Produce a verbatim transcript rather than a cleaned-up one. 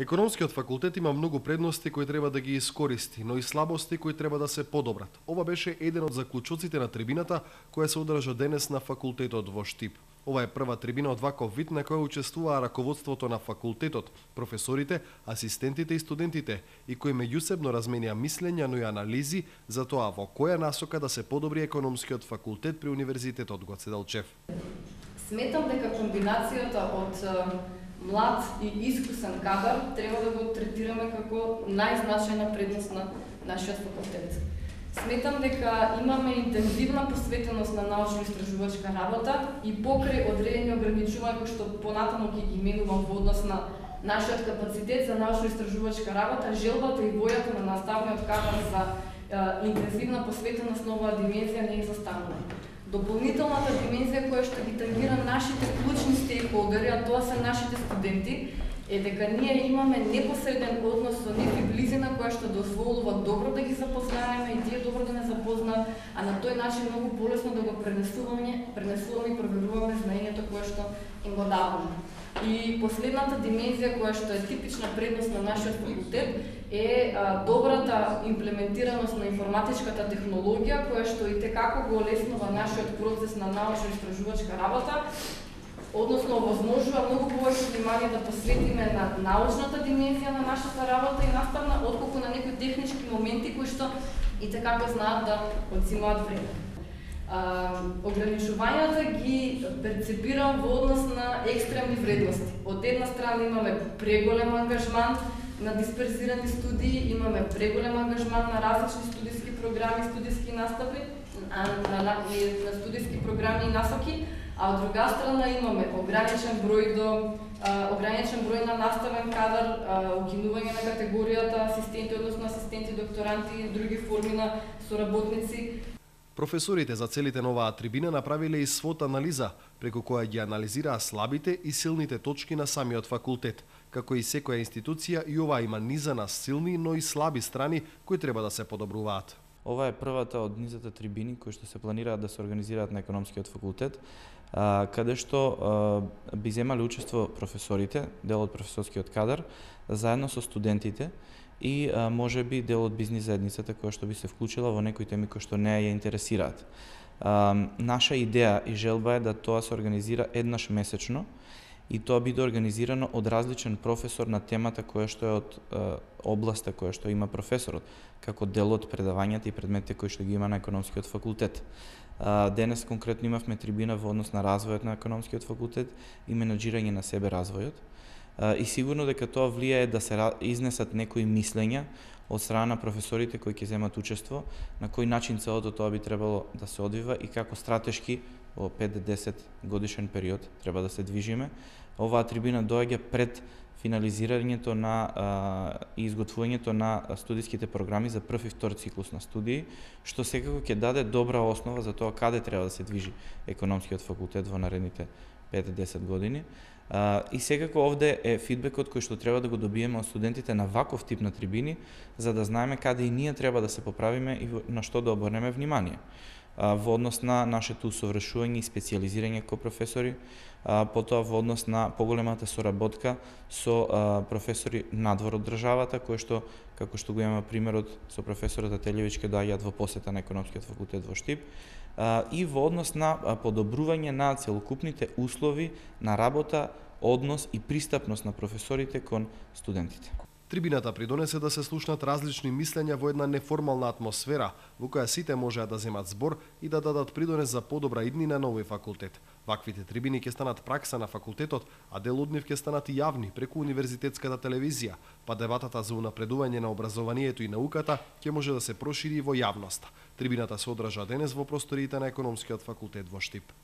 Економскиот факултет има многу предности кои треба да ги искористи, но и слабости кои треба да се подобрат. Ова беше еден од заклучоците на трибината која се одржа денес на факултетот во Штип. Ова е прва трибина од ваков вид на која учествуваа раководството на факултетот, професорите, асистентите и студентите, и кои меѓусебно разменија мислења, но и анализи за тоа во која насока да се подобри економскиот факултет при Универзитетот Гоце Делчев. Сметам дека комбинацијата од млад и искусен кадар треба да го третираме како најзначајна предност на нашиот факултет. Сметам дека имаме интензивна посветеност на научно-истражувачка работа и покрај одредени ограничувања кои што понатаму ќе ги именувам во однос на нашиот капацитет за научно-истражувачка работа, желбата и војата на наставниот кадар за е, интензивна посветеност на оваа димензија не е застанува. Дополнителната димензија која што ги тангира нашите клучни стейкхолдери, а тоа се нашите студенти, е дека ние имаме непосреден однос со нив и близина која што дозволува добро да ги запознаеме и тие добро да не запознаат, а на тој начин многу полесно да го пренесуваме, пренесуваме и проверуваме знаењето кое што им го даваме. И последната димензија која што е типична предност на нашиот факултет е а, добрата имплементираност на информатичката технологија која што и текако го олеснува нашиот процес на научно-истражувачка работа, односно овозможува многу повеќе внимание да посветиме на научната димензија на нашата работа и наставна, отколку на некои технички моменти кои што и текако знаат да одзимаат време. Uh, ограничувањата ги перцепирам во однос на екстремни вредности. Од една страна имаме преголем ангажман на дисперзирани студии, имаме преголем ангажман на различни студиски програми, студиски настави, на, на, на, на студиски програми и насоки, а од друга страна имаме ограничен број до uh, ограничен број на наставен кадар, uh, укинување на категоријата асистенти, односно асистенти, докторанти и други форми на соработници. Професорите за целите на оваа трибина направиле и свот анализа, преку која ги анализираа слабите и силните точки на самиот факултет. Како и секоја институција, и ова има низа на силни, но и слаби страни кои треба да се подобруваат. Ова е првата од низата трибини кои што се планираат да се организираат на економскиот факултет, каде што би земале учество професорите, дел од професорскиот кадар, заедно со студентите, и а, може би дел од бизнис заедницата која што би се вклучила во некои теми кои што не ја интересираат. А, наша идеја и желба е да тоа се организира еднаш месечно и тоа биде организирано од различен професор на темата која што е од а, областа која што има професорот, како дел од предавањата и предметите кои што ги има на економскиот факултет. А, денес конкретно имавме трибина во однос на развојот на економскиот факултет и менаџирање на себе развојот. И сигурно дека тоа влијае да се изнесат некои мислења од страна на професорите кои ќе земат учество, на кој начин целото тоа би требало да се одвива и како стратешки во пет до десет годишен период треба да се движиме. Оваа трибина доаѓа пред финализирањето на а, и изготвувањето на студиските програми за прв и втор циклус на студии, што секако ќе даде добра основа за тоа каде треба да се движи економскиот факултет во наредните пет до десет години. Uh, и секако овде е фидбекот кој што треба да го добиеме од студентите на ваков тип на трибини, за да знаеме каде и ние треба да се поправиме и на што да обрнеме внимание. Uh, во однос на нашето усовршување и специјализирање како професори, uh, потоа во однос на поголемата соработка со uh, професори надвор од државата, кои што, како што го имаме примерот со професорот Ателјевич, ке доаѓаат во посета на економскиот факултет во Штип, и во однос на подобрување на целокупните услови на работа, однос и пристапност на професорите кон студентите. Трибината придонесе да се слушнат различни мислења во една неформална атмосфера, во која сите можеа да земат збор и да дадат придонес за подобра иднина на овој факултет. Ваквите трибини ќе станат пракса на факултетот, а дел од нив ќе станат и јавни преку универзитетската телевизија, па дебатата за унапредување на образованието и науката ќе може да се прошири во јавноста. Трибината се одржа денес во просториите на економскиот факултет во Штип.